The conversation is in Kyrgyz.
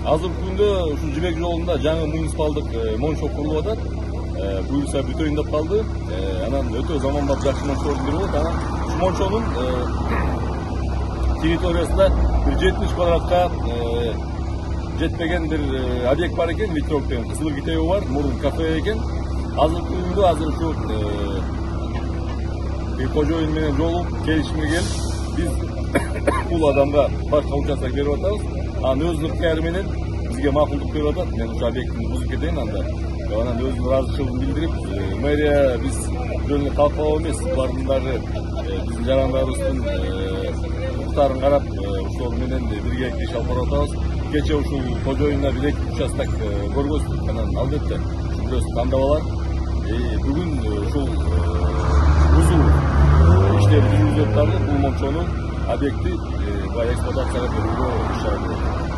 азыркы күндө ушул Жибек жолунда жаңы муниципалдык мончо курулуп атат. Буюрса бүтөйүн деп калды. Анан өтө заманбап жакшы мончолордун бири болот. Анан ушу мончонун территориясында бир 70 квадратка жетпеген бир объект бар экен, Ветрок деген кызыл китеби бар, мурун кафе экен. Азыркы күндө азыр ушу кожоюн менен жолугуп келишимге келип, биз бул адамга башка участок берип атабыз. Анын өзүнүн ыкчары менен бизге макулдук берип атат. Мен ушу объектти бузуп кетейин анда. Анан өзүнүн ыраазычылыгын билдирип, мэрия биз жөнүндө талкалоо эмес, булардын дагы биздин жарандарыбыздын укуктарын карап, ошол менен бирге иш алып барып атабыз. Кече ушул кожоюнда бир эки участок көргөздүк. Анан албетте бирөөсү тандап алат. Бүгүн ушул бузуу иштери жүргүзүлүп атат. Бул мончонун объекти эксплуатацияга берүүгө иш-чара.